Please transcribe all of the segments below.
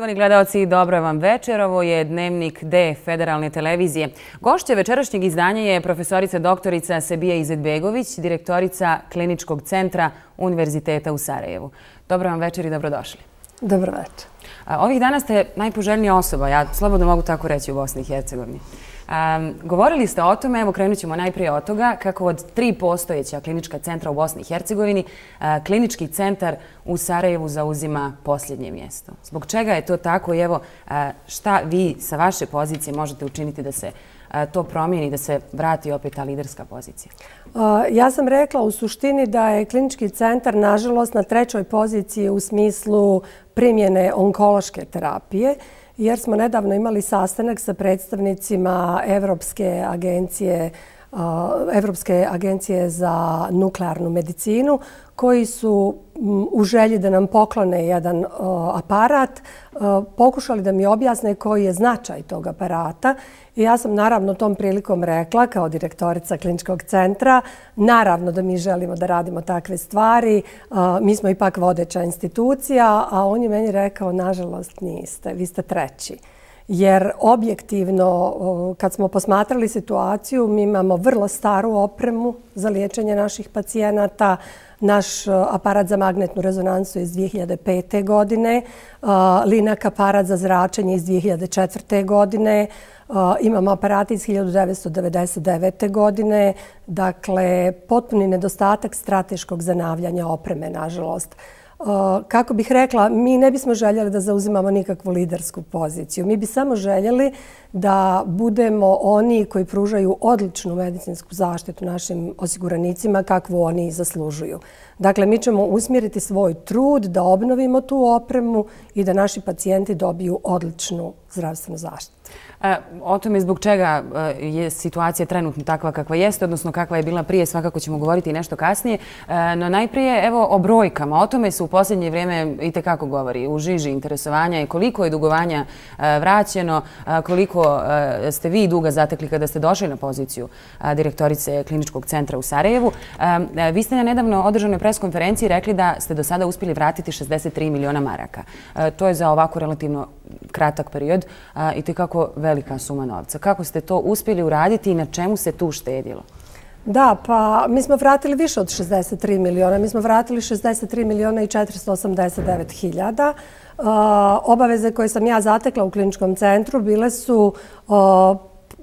Poštovani gledalci, dobro vam večer. Ovo je Dnevnik D Federalne televizije. Gošća večerašnjeg izdanja je profesorica doktorica Sebija Izetbegović, direktorica Kliničkog centra Univerziteta u Sarajevu. Dobro vam večer i dobrodošli. Dobro večer. Ovih dana ste najpoželjnija osoba, ja slobodno mogu tako reći, u Bosni i Hercegovini. Govorili ste o tome, evo krenut ćemo najprije od toga, kako od 3 postojeća klinička centra u Bosni i Hercegovini, klinički centar u Sarajevu zauzima posljednje mjesto. Zbog čega je to tako i evo šta vi sa vaše pozicije možete učiniti da se to promijeni, da se vrati opet ta liderska pozicija? Ja sam rekla u suštini da je klinički centar, nažalost, na 3. poziciji u smislu primjene onkološke terapije, jer smo nedavno imali sastanak sa predstavnicima Evropske agencije za nuklearnu medicinu, koji su u želji da nam poklone jedan aparat pokušali da mi objasne koji je značaj tog aparata. I ja sam naravno tom prilikom rekla, kao direktorica kliničkog centra, naravno da mi želimo da radimo takve stvari. Mi smo ipak vodeća institucija, a on je meni rekao, nažalost niste, vi ste 3. Jer objektivno, kad smo posmatrali situaciju, mi imamo vrlo staru opremu za liječenje naših pacijenata. Naš aparat za magnetnu rezonansu je iz 2005. godine, Linak aparat za zračenje iz 2004. godine, imamo aparate iz 1999. godine. Dakle, potpuni nedostatak strateškog zanavljanja opreme, nažalost. Kako bih rekla, mi ne bismo željeli da zauzimamo nikakvu lidersku poziciju. Mi bi samo željeli da budemo oni koji pružaju odličnu medicinsku zaštitu našim osiguranicima kakvu oni i zaslužuju. Dakle, mi ćemo usmjeriti svoj trud da obnovimo tu opremu i da naši pacijenti dobiju odličnu zdravstvenu zaštitu. O tome zbog čega je situacija trenutno takva kakva jeste, odnosno kakva je bila prije, svakako ćemo govoriti i nešto kasnije. No najprije, evo, o brojkama. O tome se u posljednje vrijeme itekako govori. U žiži interesovanja je koliko je dugovanja vraćeno, koliko ste vi duga zatekli kada ste došli na poziciju direktorice Kliničkog centra u Sarajevu. Vi ste na nedavno održanoj preskonferenciji rekli da ste do sada uspjeli vratiti 63 miliona maraka. To je za ovako relativno kratak period itekako velika suma novca. Kako ste to uspjeli uraditi i na čemu se tu štedilo? Da, pa mi smo vratili više od 63 miliona. Mi smo vratili 63 miliona i 489 hiljada. Obaveze koje sam ja zatekla u kliničkom centru bile su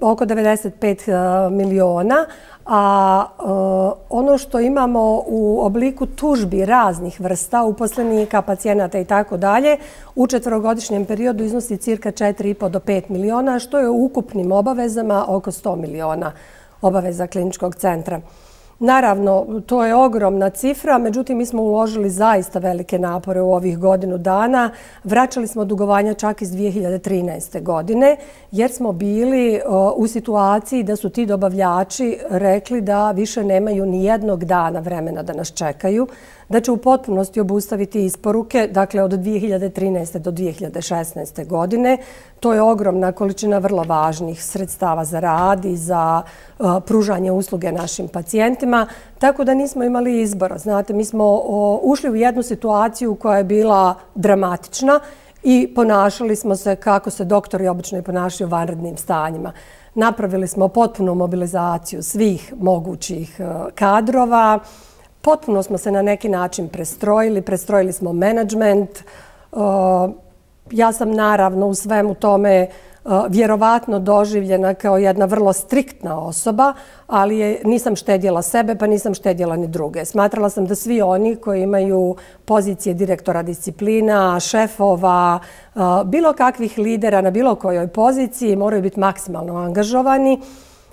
oko 95 miliona, a ono što imamo u obliku tužbi raznih vrsta, uposlenika, pacijenata i tako dalje, u 4-godišnjem periodu iznosi cirka 4,5 do 5 miliona, što je u ukupnim obavezama oko 100 miliona obaveza kliničkog centra. Naravno, to je ogromna cifra, međutim, mi smo uložili zaista velike napore u ovih godinu dana. Vraćali smo dugovanja čak iz 2013. godine, jer smo bili u situaciji da su ti dobavljači rekli da više nemaju ni jednog dana vremena da nas čekaju, da će u potpunosti obustaviti isporuke, dakle od 2013. do 2016. godine. To je ogromna količina vrlo važnih sredstava za rad i za pružanje usluge našim pacijentima, tako da nismo imali izbora. Znate, mi smo ušli u jednu situaciju koja je bila dramatična i ponašali smo se kako se doktori obično i ponašaju u vanrednim stanjima. Napravili smo potpunu mobilizaciju svih mogućih kadrova, potpuno smo se na neki način prestrojili smo menadžment. Ja sam naravno u svemu tome vjerovatno doživljena kao jedna vrlo striktna osoba, ali nisam štedjela sebe pa nisam štedjela ni druge. Smatrala sam da svi oni koji imaju pozicije direktora disciplina, šefova, bilo kakvih lidera na bilo kojoj poziciji moraju biti maksimalno angažovani.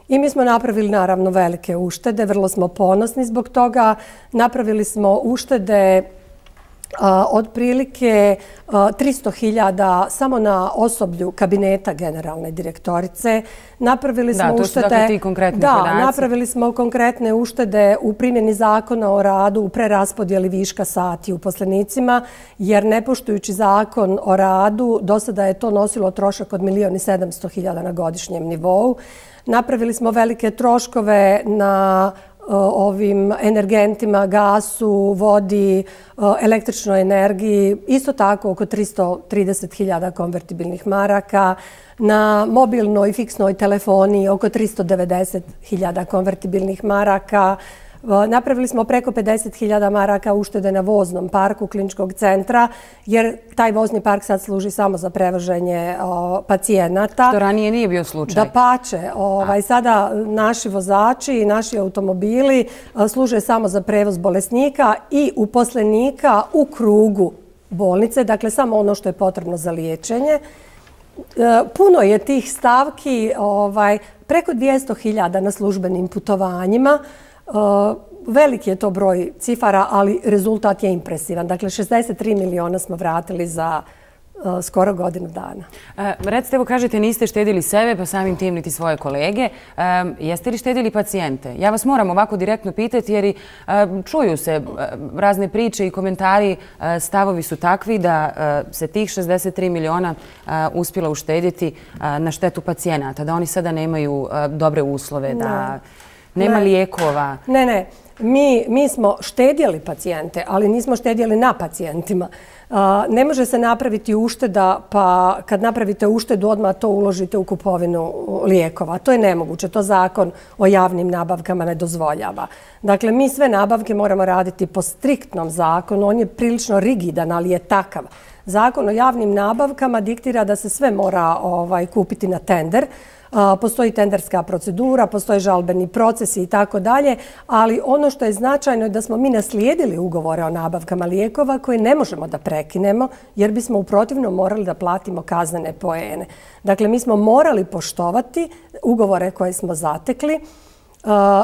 I mi smo napravili naravno velike uštede, vrlo smo ponosni zbog toga. Napravili smo uštede otprilike 300.000 samo na osoblju kabineta generalne direktorice. Napravili smo uštede... Da, to su dakle ti konkretni podaci. Da, napravili smo konkretne uštede u primjeni zakona o radu, u preraspodjeli viška sati uposlenicima, jer ne poštujući zakon o radu, do sada je to nosilo trošak od 1.700.000 na godišnjem nivou. Napravili smo velike troškove na ovim energentima, gasu, vodi, električnoj energiji, isto tako oko 330.000 konvertibilnih maraka, na mobilnoj i fiksnoj telefoniji oko 390.000 konvertibilnih maraka. Napravili smo preko 50.000 maraka uštede na voznom parku kliničkog centra, jer taj vozni park sad služi samo za prevoženje pacijenata. Što ranije nije bio slučaj. Dapače, sada naši vozači i naši automobili služe samo za prevoz bolesnika i uposlenika u krugu bolnice, dakle samo ono što je potrebno za liječenje. Puno je tih stavki, preko 200.000 na službenim putovanjima. Veliki je to broj cifara, ali rezultat je impresivan. Dakle, 63 miliona smo vratili za skoro godinu dana. Recite, evo kažete, niste štedili sebe, pa samim tim niti svoje kolege. Jeste li štedili pacijente? Ja vas moram ovako direktno pitati, jer čuju se razne priče i komentari, stavovi su takvi da se tih 63 miliona uspjela uštedjeti na štetu pacijenata, da oni sada nemaju dobre uslove, da nema lijekova. Ne. Mi smo štedjeli pacijente, ali nismo štedjeli na pacijentima. Ne može se napraviti ušteda, pa kad napravite uštedu odmah to uložite u kupovinu lijekova. To je nemoguće. To zakon o javnim nabavkama ne dozvoljava. Dakle, mi sve nabavke moramo raditi po striktnom zakonu. On je prilično rigidan, ali je takav. Zakon o javnim nabavkama diktira da se sve mora kupiti na tender. Postoji tenderska procedura, postoje žalbeni procesi i tako dalje, ali ono što je značajno je da smo mi naslijedili ugovore o nabavkama lijekova koje ne možemo da prekinemo, jer bismo u protivnom morali da platimo kaznene poene. Dakle, mi smo morali poštovati ugovore koje smo zatekli.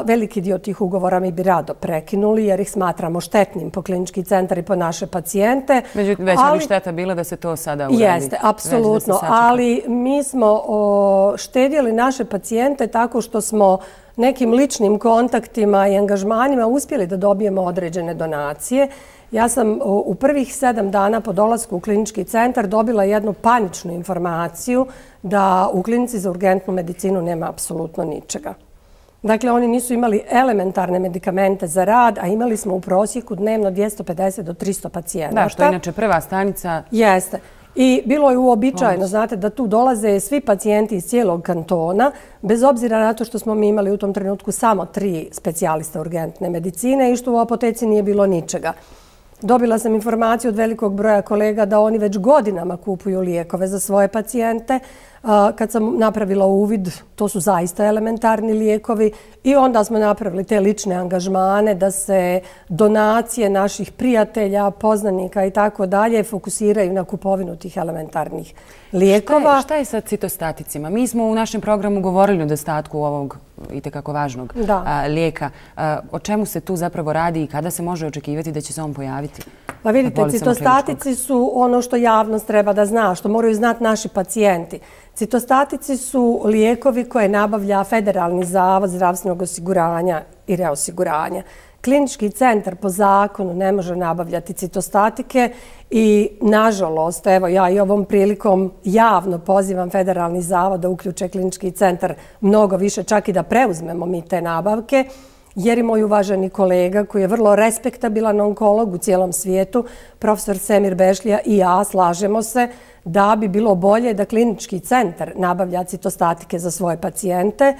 Veliki dio tih ugovora mi bi rado prekinuli jer ih smatramo štetnim po klinički centar i po naše pacijente. Međutim, veća bi šteta bila da se to sada uradi. Jeste, apsolutno. Ali mi smo štedjeli naše pacijente tako što smo nekim ličnim kontaktima i angažmanima uspjeli da dobijemo određene donacije. Ja sam u prvih 7 dana po dolasku u klinički centar dobila jednu paničnu informaciju da u klinici za urgentnu medicinu nema apsolutno ničega. Dakle, oni nisu imali elementarne medikamente za rad, a imali smo u prosjeku dnevno 250 do 300 pacijenata. Da, što je inače prva stanica. Jeste. I bilo je uobičajeno, znate, da tu dolaze svi pacijenti iz cijelog kantona, bez obzira na to što smo mi imali u tom trenutku samo 3 specijalista urgentne medicine i što u apoteci nije bilo ničega. Dobila sam informaciju od velikog broja kolega da oni već godinama kupuju lijekove za svoje pacijente. Kad sam napravila uvid, to su zaista elementarni lijekovi i onda smo napravili te lične angažmane da se donacije naših prijatelja, poznanika i tako dalje fokusiraju na kupovinu tih elementarnih lijekova. Šta je sa citostaticima? Mi smo u našem programu govorili o nedostatku ovog itekako važnog lijeka. O čemu se tu zapravo radi i kada se može očekivati da će se on pojaviti? Pa vidite, citostatici su ono što javnost treba da zna, što moraju znati naši pacijenti. Citostatici su lijekovi koje nabavlja Federalni zavod zdravstvenog osiguranja i reosiguranja. Klinički centar po zakonu ne može nabavljati citostatike i, nažalost, evo ja i ovom prilikom javno pozivam Federalni zavod da uključe klinički centar mnogo više, čak i da preuzmemo mi te nabavke, jer i moj uvaženi kolega, koji je vrlo respektabilan onkolog u cijelom svijetu, profesor Semir Bešlija i ja slažemo se da bi bilo bolje da klinički centar nabavlja citostatike za svoje pacijente,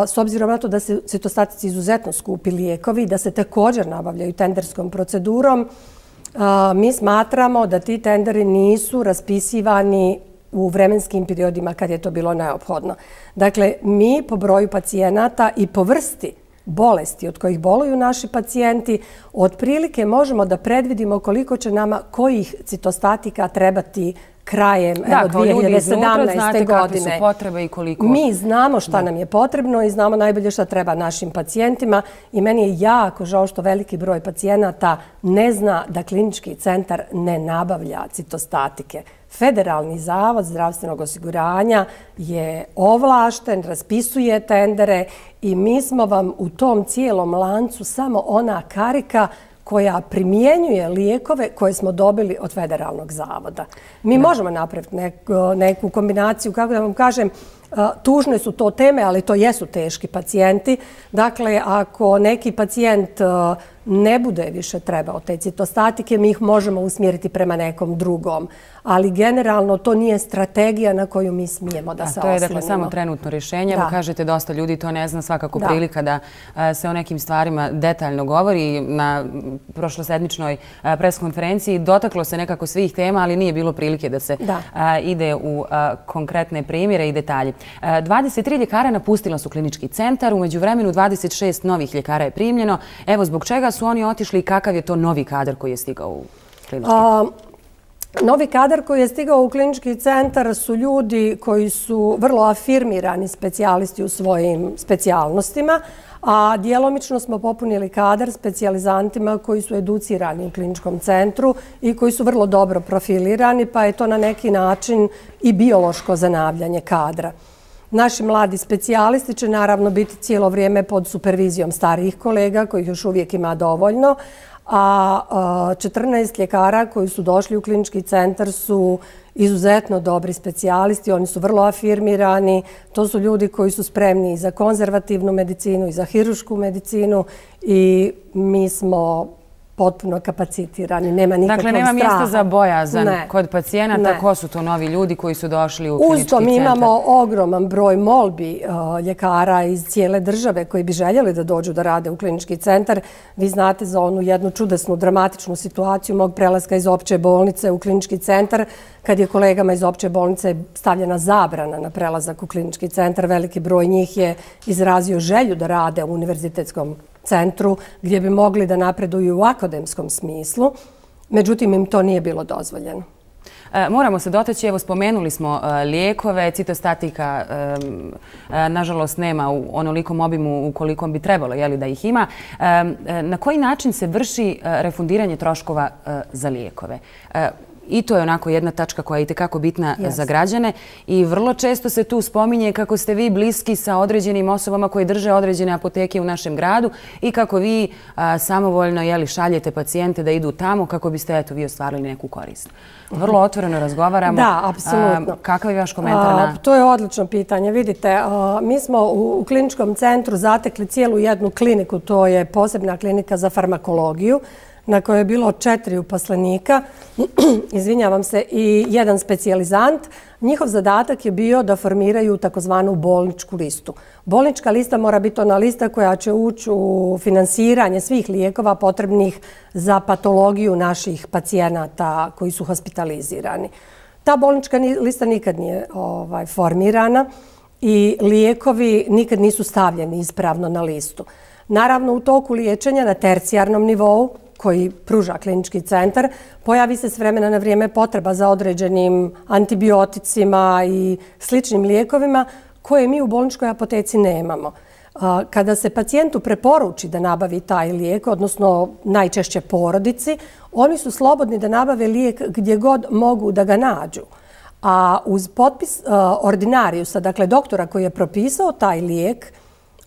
s obzirom na to da se citostatici izuzetno skupi lijekovi, da se također nabavljaju tenderskom procedurom. Mi smatramo da ti tenderi nisu raspisivani u vremenskim periodima kad je to bilo neophodno. Dakle, mi po broju pacijenata i po vrsti bolesti od kojih boluju naši pacijenti, otprilike možemo da predvidimo koliko će nama kojih citostatika trebati krajem 2017. godine. Mi znamo šta nam je potrebno i znamo najbolje šta treba našim pacijentima i meni je jako žao što veliki broj pacijenata ne zna da klinički centar ne nabavlja citostatike. Federalni zavod zdravstvenog osiguranja je ovlašten, raspisuje tendere i mi smo vam u tom cijelom lancu samo ona karika koja primjenjuje lijekove koje smo dobili od Federalnog zavoda. Mi možemo napraviti neku kombinaciju, kako da vam kažem, Tužne su to teme, ali to jesu teški pacijenti. Dakle, ako neki pacijent ne bude više trebao te citostatike, mi ih možemo usmjeriti prema nekom drugom. Ali generalno to nije strategija na koju mi smijemo da se oslonimo. To je dakle samo trenutno rješenje. Evo kažete, dosta ljudi to ne zna, svakako prilika da se o nekim stvarima detaljno govori. Na prošlosedmičnoj preskonferenciji dotaklo se nekako svih tema, ali nije bilo prilike da se ide u konkretne primjere i detalje. 23 ljekara napustila su klinički centar, u međuvremenu 26 novih ljekara je primljeno. Evo, zbog čega su oni otišli i kakav je to novi kadar koji je stigao u klinički centar? Novi kadar koji je stigao u klinički centar su ljudi koji su vrlo afirmirani specijalisti u svojim specijalnostima, a djelomično smo popunili kadar specijalizantima koji su educirani u kliničkom centru i koji su vrlo dobro profilirani, pa je to na neki način i biološko zanavljanje kadra. Naši mladi specijalisti će naravno biti cijelo vrijeme pod supervizijom starijih kolega, kojih još uvijek ima dovoljno, a 14 ljekara koji su došli u klinički centar su izuzetno dobri specijalisti, oni su vrlo afirmirani, to su ljudi koji su spremni i za konzervativnu medicinu i za hirušku medicinu i mi smo potpuno kapacitirani, nema nikakvog straha. Dakle, nema mjesta za bojazan kod pacijenata. Ko su to novi ljudi koji su došli u klinički centar? Uz to mi imamo ogroman broj molbi ljekara iz cijele države koji bi željeli da dođu da rade u klinički centar. Vi znate za onu jednu čudesnu, dramatičnu situaciju mog prelaska iz opće bolnice u klinički centar, kad je kolegama iz opće bolnice stavljena zabrana na prelazak u klinički centar. Veliki broj njih je izrazio želju da rade u univerzitetskom centru gdje bi mogli da napreduju u akademskom smislu. Međutim, im to nije bilo dozvoljeno. Moramo se dotaći, evo spomenuli smo lijekove, citostatika nažalost nema u onolikom obimu u kolikom bi trebalo da ih ima. Na koji način se vrši refundiranje troškova za lijekove? I to je onako jedna tačka koja je itekako bitna za građane i vrlo često se tu spominje kako ste vi bliski sa određenim osobama koji drže određene apoteke u našem gradu i kako vi samovoljno šaljete pacijente da idu tamo kako biste vi ostvarili neku korist. Vrlo otvoreno razgovaramo. Da, apsolutno. Kakav je vaš komentar na... To je odlično pitanje. Vidite, mi smo u kliničkom centru zatekli cijelu jednu kliniku, to je posebna klinika za farmakologiju, na kojoj je bilo 4 uposlenika, izvinjavam se, i 1 specijalizant. Njihov zadatak je bio da formiraju takozvanu bolničku listu. Bolnička lista mora biti ona lista koja će ući u finansiranje svih lijekova potrebnih za patologiju naših pacijenata koji su hospitalizirani. Ta bolnička lista nikad nije formirana i lijekovi nikad nisu stavljeni ispravno na listu. Naravno, u toku liječenja na tercijarnom nivou, koji pruža klinički centar, pojavi se s vremena na vrijeme potreba za određenim antibioticima i sličnim lijekovima koje mi u bolničkoj apoteci nemamo. Kada se pacijentu preporuči da nabavi taj lijek, odnosno najčešće porodici, oni su slobodni da nabave lijek gdje god mogu da ga nađu. A uz potpis ordinariusa, dakle doktora koji je propisao taj lijek,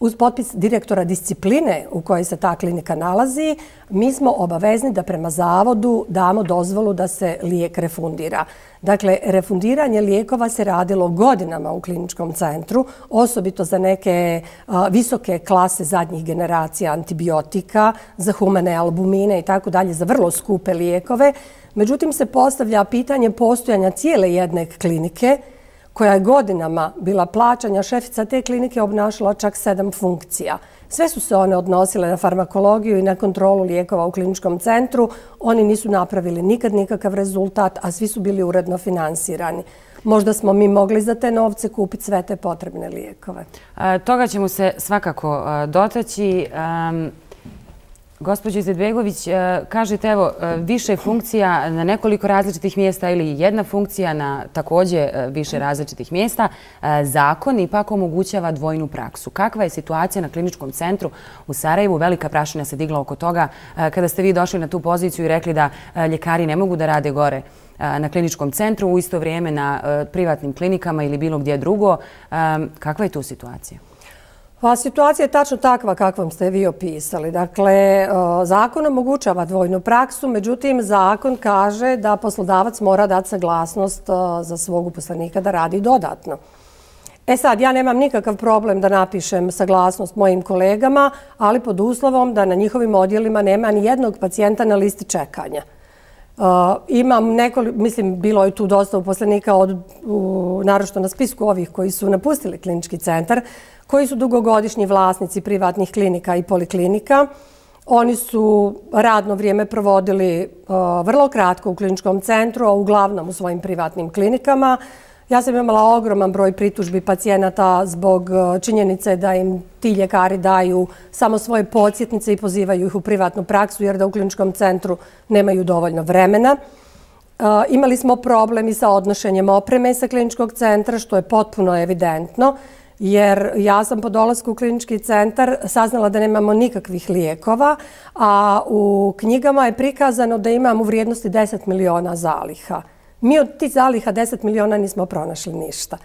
uz potpis direktora discipline u kojoj se ta klinika nalazi, mi smo obavezni da prema zavodu damo dozvolu da se lijek refundira. Dakle, refundiranje lijekova se radilo godinama u kliničkom centru, osobito za neke visoke klase zadnjih generacija antibiotika, za humane albumine i tako dalje, za vrlo skupe lijekove. Međutim, se postavlja pitanje postojanja cijele jedne klinike koja je godinama bila plaćanja. Šefica te klinike obnašala čak 7 funkcija. Sve su se one odnosile na farmakologiju i na kontrolu lijekova u kliničkom centru. Oni nisu napravili nikad nikakav rezultat, a svi su bili uredno finansirani. Možda smo mi mogli za te novce kupiti sve te potrebne lijekove. Toga ćemo se svakako dotaći. Gospođo Izetbegović, kažete evo više funkcija na nekoliko različitih mjesta ili jedna funkcija na također više različitih mjesta. Zakon ipak omogućava dvojnu praksu. Kakva je situacija na kliničkom centru u Sarajevu? Velika prašina se digla oko toga kada ste vi došli na tu poziciju i rekli da ljekari ne mogu da rade gore na kliničkom centru, u isto vrijeme na privatnim klinikama ili bilo gdje drugo. Kakva je tu situacija? Pa situacija je tačno takva kakvom ste vi opisali. Dakle, zakon omogućava dvojnu praksu, međutim, zakon kaže da poslodavac mora dati saglasnost za svog uposlenika da radi dodatno. Sad, ja nemam nikakav problem da napišem saglasnost mojim kolegama, ali pod uslovom da na njihovim odjelima nema ni jednog pacijenta na listi čekanja. Imam mislim, bilo je tu dosta uposlenika, naročito na spisku ovih koji su napustili klinički centar, koji su dugogodišnji vlasnici privatnih klinika i poliklinika. Oni su radno vrijeme provodili vrlo kratko u kliničkom centru, a uglavnom u svojim privatnim klinikama. Ja sam imala ogroman broj pritužbi pacijenata zbog činjenice da im ti ljekari daju samo svoje podsjetnice i pozivaju ih u privatnu praksu jer da u kliničkom centru nemaju dovoljno vremena. Imali smo problem i sa odnošenjem opreme sa kliničkog centra, što je potpuno evidentno, jer ja sam po dolasku u klinički centar saznala da nemamo nikakvih lijekova, a u knjigama je prikazano da imamo u vrijednosti 10 miliona zaliha. Mi od tih zaliha 10 miliona nismo pronašli ništa.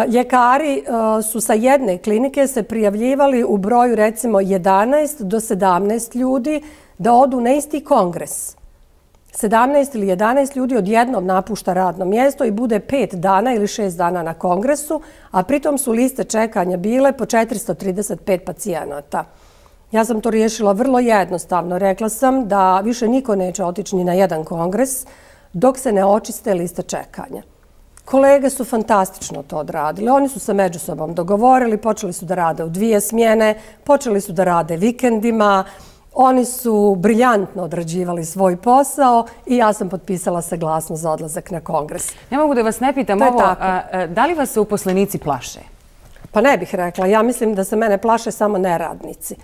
Ljekari su sa jedne klinike se prijavljivali u broju recimo 11 do 17 ljudi da odu na isti kongres. 17 ili 11 ljudi odjednom napušta radno mjesto i bude 5 dana ili 6 dana na kongresu, a pritom su liste čekanja bile po 435 pacijenata. Ja sam to riješila vrlo jednostavno. Rekla sam da više niko neće otići ni na jedan kongres dok se ne očiste liste čekanja. Kolege su fantastično to odradili. Oni su se među sobom dogovorili, počeli su da rade u 2 smjene, počeli su da rade vikendima. Oni su briljantno odrađivali svoj posao i ja sam potpisala saglasnost za odlazak na kongres. Ne mogu da vas ne pitam ovo, da li vas se uposlenici plaše? Pa ne bih rekla. Ja mislim da se mene plaše samo neradnici.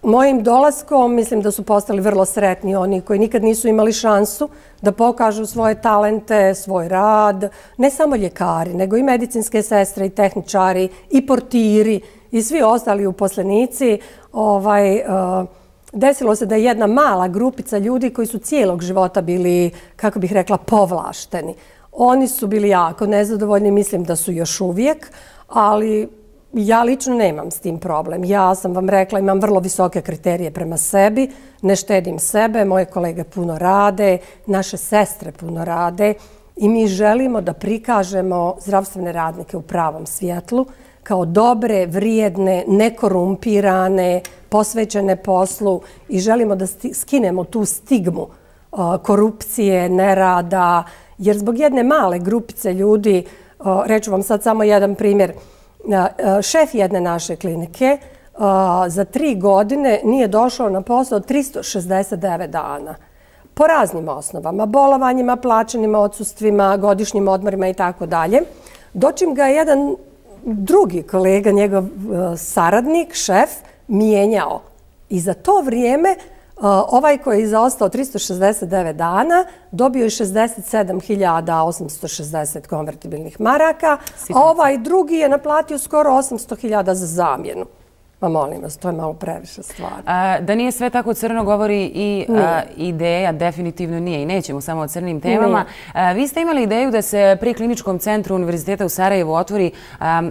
Mojim dolaskom mislim da su postali vrlo sretni oni koji nikad nisu imali šansu da pokažu svoje talente, svoj rad. Ne samo ljekari, nego i medicinske sestre i tehničari i portiri i svi ostali uposlenici. Desilo se da je jedna mala grupica ljudi koji su cijelog života bili, kako bih rekla, povlašteni. Oni su bili jako nezadovoljni, mislim da su još uvijek, ali ja lično nemam s tim problem. Ja sam vam rekla, imam vrlo visoke kriterije prema sebi, ne štedim sebe, moje kolege puno rade, naše sestre puno rade i mi želimo da prikažemo zdravstvene radnike u pravom svjetlu kao dobre, vrijedne, nekorumpirane, posvećene poslu i želimo da skinemo tu stigmu korupcije, nerada, jer zbog jedne male grupice ljudi, reću vam sad samo jedan primjer, šef jedne naše klinike za 3 godine nije došao na posao 369 dana. Po raznim osnovama, bolovanjima, plaćenim odsustvima, godišnjim odmorima i tako dalje. Dočim ga je jedan drugi kolega, njegov saradnik, šef, mijenjao. I za to vrijeme ovaj koji je zaostao 369 dana dobio je 67.860 konvertibilnih maraka, a ovaj drugi je naplatio skoro 800.000 za zamjenu. Ma molim vas, to je malo previše stvari. Da nije sve tako crno govori i ideja, definitivno nije i nećemo samo o crnim temama. Vi ste imali ideju da se pri Kliničkom centru Univerziteta u Sarajevu otvori,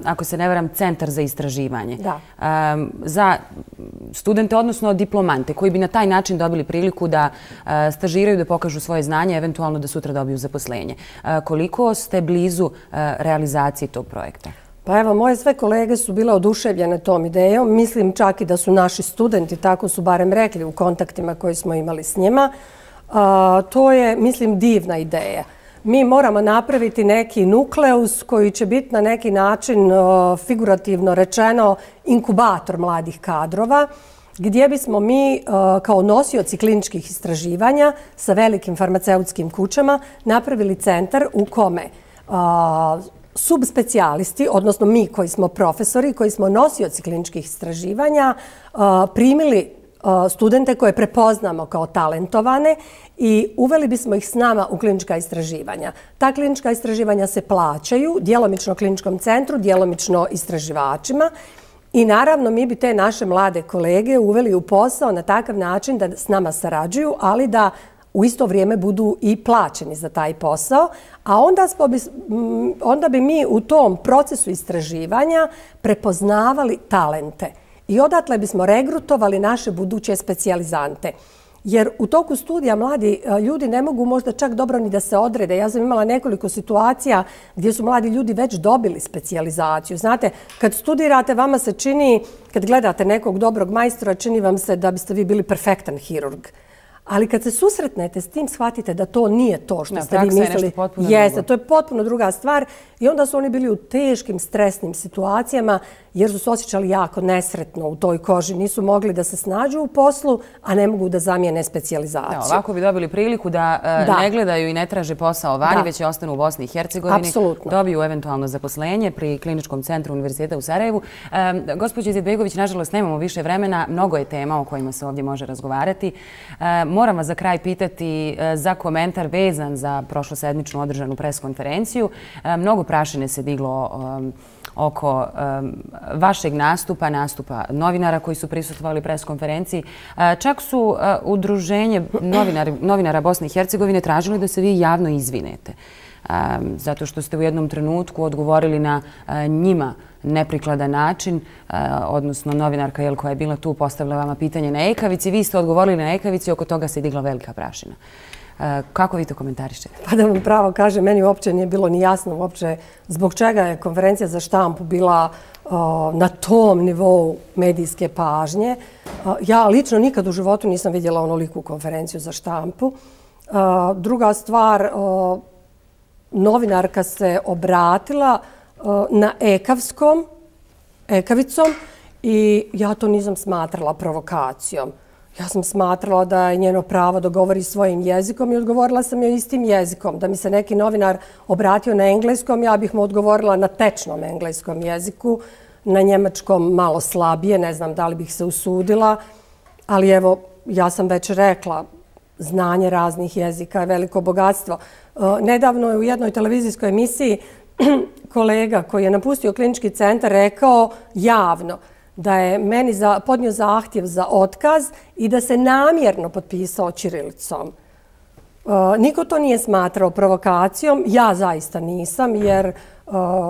ako se ne varam, centar za istraživanje. Za studente, odnosno diplomante, koji bi na taj način dobili priliku da stažiraju, da pokažu svoje znanje, eventualno da sutra dobiju zaposlenje. Koliko ste blizu realizacije tog projekta? Pa evo, moje sve kolege su bile oduševljene tom idejom. Mislim čak i da su naši studenti, tako su barem rekli u kontaktima koji smo imali s njima. To je, mislim, divna ideja. Mi moramo napraviti neki nukleus koji će biti na neki način, figurativno rečeno, inkubator mladih kadrova, gdje bismo mi kao nosioci kliničkih istraživanja sa velikim farmaceutskim kućama napravili centar u kome subspecijalisti, odnosno mi koji smo profesori, koji smo nosioci kliničkih istraživanja, primili studente koje prepoznamo kao talentovane i uveli bismo ih s nama u klinička istraživanja. Ta klinička istraživanja se plaćaju djelomično kliničkom centru, djelomično istraživačima i naravno mi bi te naše mlade kolege uveli u posao na takav način da s nama sarađuju, ali da u isto vrijeme budu i plaćeni za taj posao, a onda bi mi u tom procesu istraživanja prepoznavali talente i odatle bismo regrutovali naše buduće specijalizante. Jer u toku studija mladi ljudi ne mogu možda čak dobro ni da se odrede. Ja sam imala nekoliko situacija gdje su mladi ljudi već dobili specijalizaciju. Znate, kad studirate, vama se čini, kad gledate nekog dobrog majstora, čini vam se da biste vi bili perfektan hirurg. Ali kad se susretnete s tim, shvatite da to nije to što ste vi mislili. Jeste, to je potpuno druga stvar. I onda su oni bili u teškim, stresnim situacijama jer su se osjećali jako nesretno u toj koži. Nisu mogli da se snađu u poslu, a ne mogu da zamijene specijalizaciju. Ovako bi dobili priliku da ne gledaju i ne traže posao vani, već ostanu u Bosni i Hercegovini. Dobiju eventualno zaposlenje pri Kliničkom centru Univerziteta u Sarajevu. Gospođo Izetbegović, nažalost, nemamo više vremena. Mnogo je tema o kojima se ovdje može razgovarati. Moram vas za kraj pitati za komentar vezan za prošlosedmičnu održanu preskonferenciju. Mnogo prašine se diglo oko vašeg nastupa novinara koji su prisustvovali preskonferenciji. Čak su udruženje novinara Bosne i Hercegovine tražili da se vi javno izvinete. Zato što ste u jednom trenutku odgovorili na njima neprikladan način, odnosno novinarka koja je bila tu postavila vama pitanje na ekavici, vi ste odgovorili na ekavici i oko toga se digla velika prašina. Kako vi to komentarišete? Pa da vam pravo kažem, meni uopće nije bilo ni jasno uopće zbog čega je konferencija za štampu bila na tom nivou medijske pažnje. Ja lično nikad u životu nisam vidjela onoliku konferenciju za štampu. Druga stvar, novinarka se obratila na ekavicom i ja to nisam smatrala provokacijom. Ja sam smatrala da je njeno pravo da govori svojim jezikom i odgovorila sam joj istim jezikom. Da mi se neki novinar obratio na engleskom, ja bih mu odgovorila na tečnom engleskom jeziku, na njemačkom malo slabije, ne znam da li bih se usudila, ali evo, ja sam već rekla, znanje raznih jezika je veliko bogatstvo. Nedavno je u jednoj televizijskoj emisiji kolega koji je napustio klinički centar rekao javno da je meni podnio zahtjev za otkaz i da se namjerno potpisao ćirilicom. Niko to nije smatrao provokacijom, ja zaista nisam, jer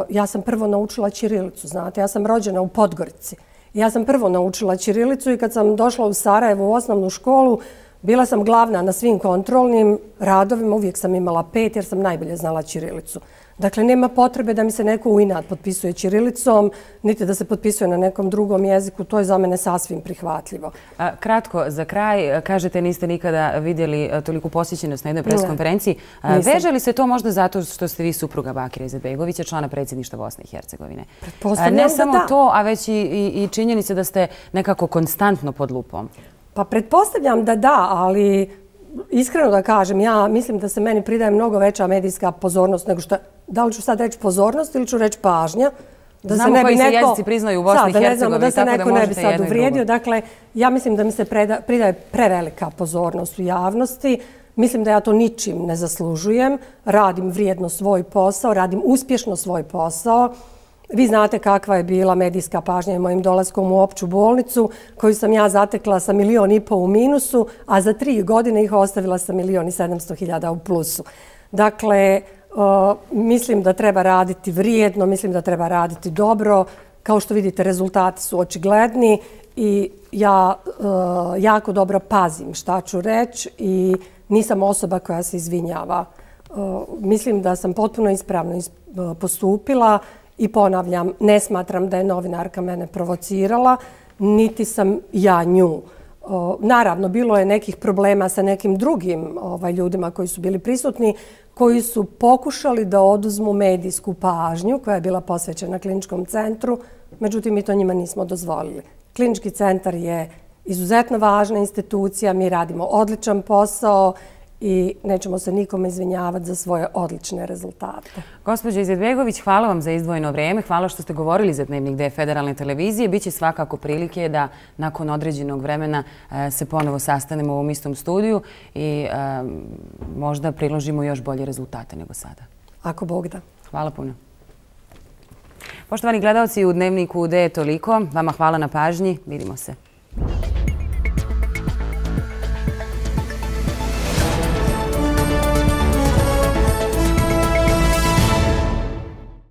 ja sam prvo naučila ćirilicu, znate, ja sam rođena u Podgorici. Ja sam prvo naučila ćirilicu i kad sam došla u Sarajevo u osnovnu školu, bila sam glavna na svim kontrolnim radovima, uvijek sam imala 5 jer sam najbolje znala ćirilicu. Dakle, nema potrebe da mi se neko u inat potpisuje ćirilicom, niti da se potpisuje na nekom drugom jeziku. To je za mene sasvim prihvatljivo. Kratko, za kraj, kažete niste nikada vidjeli toliku posjećenost na jednoj preskonferenciji. Veže li se to možda zato što ste vi supruga Bakira Izetbegovića, člana predsjedništva Bosne i Hercegovine? Ne samo to, a već i činjenica da ste nekako konstantno pod lupom. Pa pretpostavljam da da, ali iskreno da kažem, ja mislim da se meni pridaje mnogo veća medijska pozornost nego što... Da li ću sad reći pozornost ili ću reći pažnja? Znamo koji se jezici priznaju u Bosni i Hercegovini, da se neko ne bi sad uvrijedio. Dakle, ja mislim da mi se pridaje prevelika pozornost u javnosti. Mislim da ja to ničim ne zaslužujem. Radim vrijedno svoj posao, radim uspješno svoj posao. Vi znate kakva je bila medijska pažnja mojim dolaskom u opću bolnicu, koju sam ja zatekla sa 1,5 miliona u minusu, a za 3 godine ih ostavila sa 1.700.000 u plusu. Dakle, mislim da treba raditi vrijedno, mislim da treba raditi dobro. Kao što vidite, rezultati su očigledni i ja jako dobro pazim šta ću reći i nisam osoba koja se izvinjava. Mislim da sam potpuno ispravno postupila i ponavljam, ne smatram da je novinarka mene provocirala, niti sam ja nju. Naravno, bilo je nekih problema sa nekim drugim ljudima koji su bili prisutni, koji su pokušali da oduzmu medijsku pažnju koja je bila posvećena kliničkom centru, međutim, mi to njima nismo dozvolili. Klinički centar je izuzetno važna institucija, mi radimo odličan posao i nećemo se nikome izvinjavati za svoje odlične rezultate. Gospođo Izetbegović, hvala vam za izdvojeno vrijeme. Hvala što ste govorili za Dnevnik D Federalne televizije. Biće svakako prilike da nakon određenog vremena se ponovo sastanemo u ovom istom studiju i možda priložimo još bolje rezultate nego sada. Ako Bog da. Hvala puno. Poštovani gledalci, u Dnevniku D je toliko. Vama hvala na pažnji. Vidimo se.